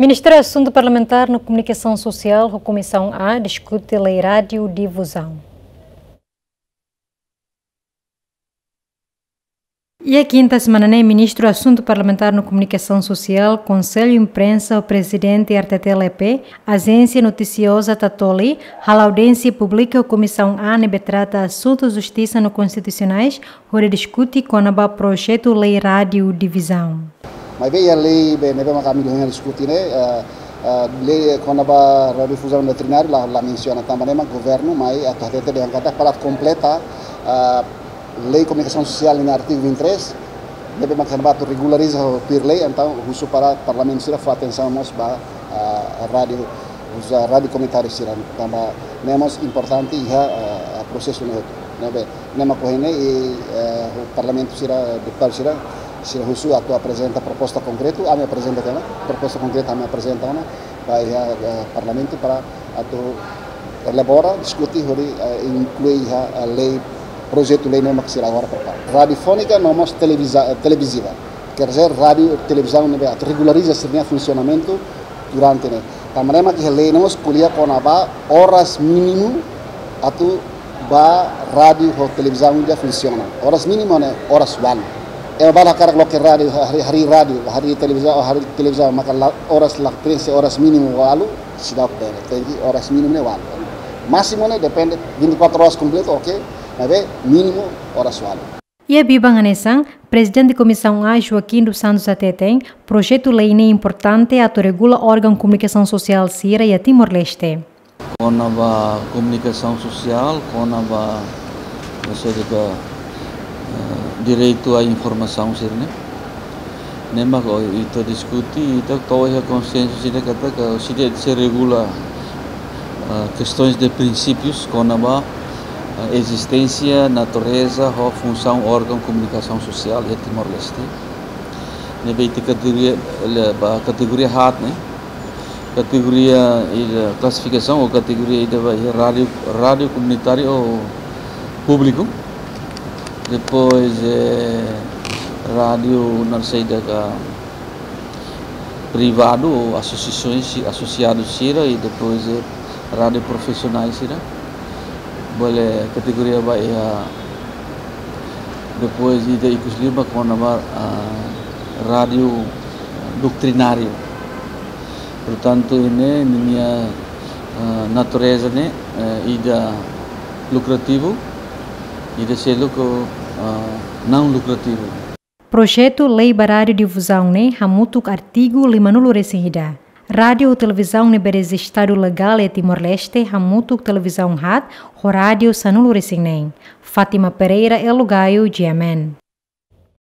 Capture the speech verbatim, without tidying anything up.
Ministru Asuntu Parlamentár no Komunikasaun Sosiál ho Komisaun A diskute lei rádiu difuzaun. Iha kinta semana ne'e, Ministru Asuntu Parlamentár no Komunikasaun Sosiál, Konsellu Imprensa ho Prezidente R T T L E P, Ajénsia Notisioza Tatoli, hala'o audiénsia públika Komisaun A ne'ebé trata asuntu justisa no konstitusionais, hodi diskute kona-ba projetu lei rádiu difuzaun. Maibé iha lei be ne'ebé mak ami dehan diskute ne'e, eh, eh, lei kona-ba rádiu difuzaun doutrináriu la, la mensiona, tanba ne'e mak governu mai atu hatete dehan katak para kompleta, eh, lei komunikasaun sosiál nia artigu vinte e três, ne'ebé mak atu regulariza ho tuir lei, entaun husu para parlamentu sira fó atensaun mós ba, ah, rádiu, uza rádiu komunitáriu sira, tanba ne'e mós importante iha, ah, prosesu ne'e hotu. Ne'ebé, ne'e mak ohin ne'e, i, eh, parlamentu sira, deputadu sira, sira husu atu aprezenta proposta konkretu, ami aprezenta tiha ona, proposta konkreta ami aprezenta ona, ba iha, eh, parlamentu para atu elabora, diskute, hodi, eh, inklui iha, eh, lei, projetu lei ne'ebé mak sira agora prepara. Radiofónika no mós televiza-, televiziva. Quer dizer, rádiu, televizaun ne'ebé atu regulariza sira-nia funsionamentu durante ne'e. Tanba ne'e mak iha lei ne'e mós ko'alia kona-ba oras mínimu atu ba rádiu ho televizaun ida funsiona. Oras mínimu ne'e oras ualu. Ema balu hakarak loke rádiu, harii, harii rádiu, harii televizaun, harii televizaun, maka la, oras la prensa, oras mínimu ualu, seidauk bele. Tenke oras mínimu ne'e ualu. Másimu ne'e depende, vinte e quatro horas kompletu, oke, maibé mínimu oras ualu. Iha biban hanesan, Prezidente Komisaun A, Joaquim dos Santos hateten, projetu lei ne'e importante atu regula órgaun komunikasaun sosiál sira iha Timor-Leste. Kona-ba komunikasaun sosiál, kona-ba, ou seja, eh, direitu à informasaun sira-ne'e. Ne'e mak ohin ita diskute, ita to'o iha konsensu sira katak, katak sira sei regula, eh, kestaun de prinsípius kona-ba, eh, ezisténsia, natureza ho funsaun órgaun komunikasaun sosiál iha Timor-Leste. Ne'ebé ita kategoria, le, ba kategoria haat ne'e. Kategoria ida klasifikasaun ou kategoria ida ba iha rádiu, rádiu komunitáriu ou públiku. Depois, eh, rádiu naran saida ka privadu ou asosiasaun si-, asosiadu sira i depois, eh, rádiu profisionál sira. Bele kategoria ba iha, depois ida ikus liu ba kona-ba, ah, rádiu doutrináriu. Portantu, ida-ne'e ninia, ah, natureza ne'e, eh, ida lukrativu, ida seluk, ah, não lucrativo. Projetu lei ba rádiu difuzaun ne'e hamutuk artigu lima-nulu resin ida. Rádiu ho televizaun ne'ebé rejistadu legál iha Timor-Leste hamutuk televizaun haat ho rádiu sanulu resin neen. Fátima Pereira, Elo Gaio, G M N.